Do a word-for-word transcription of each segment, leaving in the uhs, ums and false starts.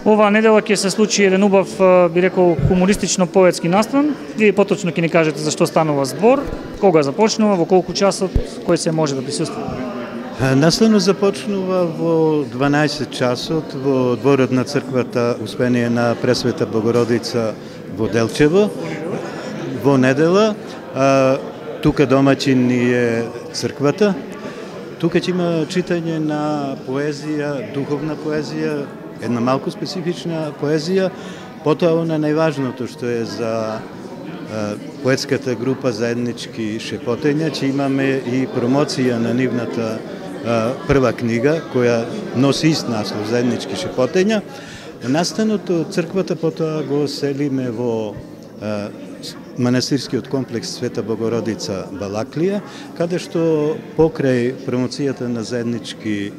Оваа недела ќе се случи еден убав, би рекол, хумористично-поетски настан. Вие поточно ќе ни кажете за што станува збор, кога започнува, во колку часот, кој се може да присуствува? Настанот започнува во дванаесет часот во дворот на црквата Успение на Пресвета Богородица во Делчево. Во недела, тука домаќин е црквата. Тука ќе има читање на поезија, духовна поезија, една малку специфична поезија, потоа она најважното што е за поетската група Заеднички шепотења, ќе имаме и промоција на нивната прва книга, која носи ист наслов Заеднички шепотења. Настанот од црквата потоа го селиме во манастирскиот комплекс Света Богородица Балаклија, каде што покрај промоцијата на Заеднички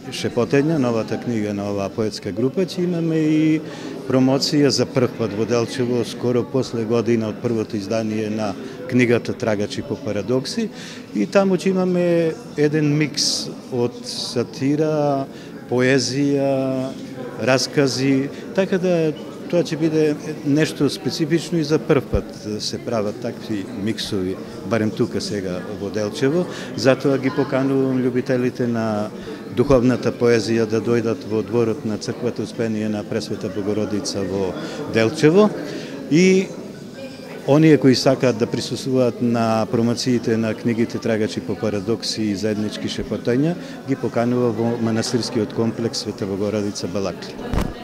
шепотења, новата книга на оваа поетска група, ќе имаме и промоција за прв пат во Делчево, скоро после година од првото издание на книгата Трагачи по парадокси, и таму ќе имаме еден микс од сатира, поезија, раскази, така да тоа ќе биде нешто специфично и за прв пат се прават такви миксови, барем тука сега во Делчево. Затоа ги поканувам љубителите на духовната поезија да дојдат во дворот на црквата Успение на Пресвета Богородица во Делчево, и оние кои сакаат да присуствуваат на промоциите на книгите Трагачи по парадокси и Заеднички шепотења, ги поканува во манастирскиот комплекс Света Богородица Балаклија.